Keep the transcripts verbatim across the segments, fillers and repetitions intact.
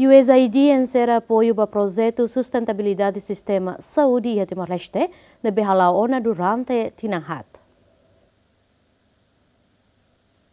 USAID enserra apoiu ba projetu sustentabilidade sistema saúde iha Timor-Leste, ne'ebé hala'o ona durante tinan haat.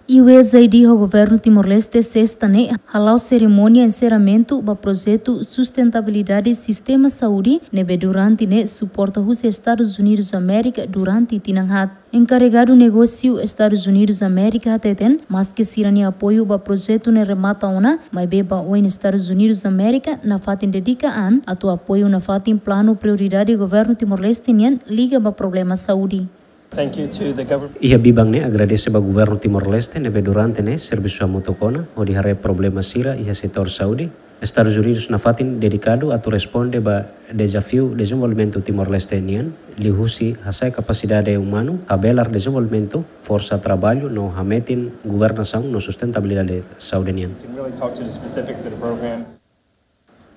USAID ho Governu Timor-Leste sesta ne'e hala'o serimónia enserramentu ba projetu sustentabilidade sistema saúde ne'ebé durante ne'e suporta husi Estadus Unidus Amérika durante tinan haat. Enkarregadu negósiu Estadus Unidus Amérika hateten, maske sira-nia apoiu ba projetu ne'e remata ona, maibé ba oin Estadus Unidus Amérika nafatin dedika an atu apoiu nafatin planu prioridade Governu Timor-Leste nian liga ba problema saúde. Thank you to the government. Iha biban ne'e agradese ba Governu Timor-Leste ne'ebé durante ne'e servisu hamutuk ona hodi haree problema sira iha setór saúde. Estadus Unidus nafatin dedikadu atu responde ba dezafiu dezenvolvimentu Timor-Leste nian, liuhusi hasa'e kapasidade umanu, habelar dezenvolvimentu, forsa traballu no hametin governasaun no sustentabilidade saúde nian. Can really talk to the specifics of the program.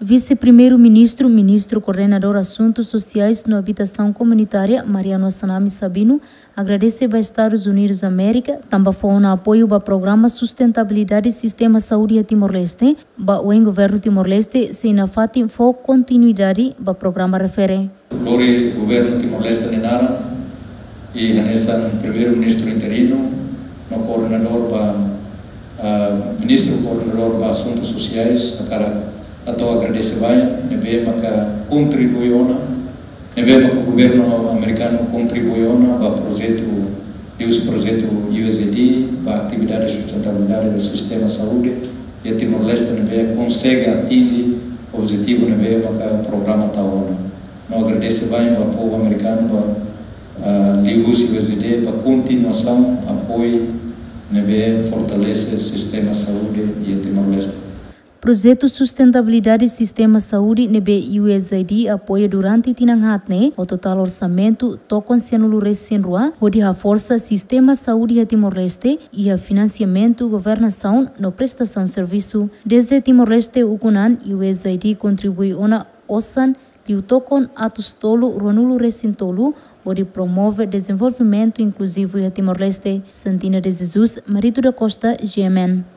Vise-Primeiru-Ministru, Ministru Koordenadór Asuntus Sosiais no Abitasaun Komunitária, Mariano Assanami Sabino, agradese ba Estadus Unidus Amérika, tanba fó ona apoiu ba programa sustentabilidade sistema saúde iha Timor-Leste, ba oin Governu Timor-Leste sei nafatin fó kontinuidade ba programa refere. Lori Governu Timor-Leste nia naran, i hanesan Primeiru-Ministru interinu, no koordenadór ba, ah, Ministru Koordenadór ba Asuntus Sosiais, hakarak hato'o agradese ba, ne'ebé maka kontribui ona, ne'ebé maka Governu Amerikanu kontribui ona ba projetu, liuhusi projetu USAID, ba atividade sustentabilidade do sistema saúde iha Timor-Leste, ne'ebé konsege atinje objetivu ne'ebé maka programa tau ona. No agradese ba povu amerikanu ba, ah, liuhusi USAID ba kontinuasaun apoiu ne'ebé fortalese sistema saúde iha Timor-Leste. Projetu sustentabilidade sistema saúde ne'ebé USAID apoia durante tinan haat ne'e, ho totál orsamentu tokon sianulu resin rua, hodi haforsa sistema saúde iha Timor-Leste, iha finansiamentu governasaun no prestasaun servisu. Dezde Timor-Leste ukun an, USAID kontribui ona osan liu tokon atus tolu ruanulu resin tolu, hodi promove dezenvolvimentu inkluzivu iha Timor-Leste. Santina de Jesus, Marito da Costa, GMN.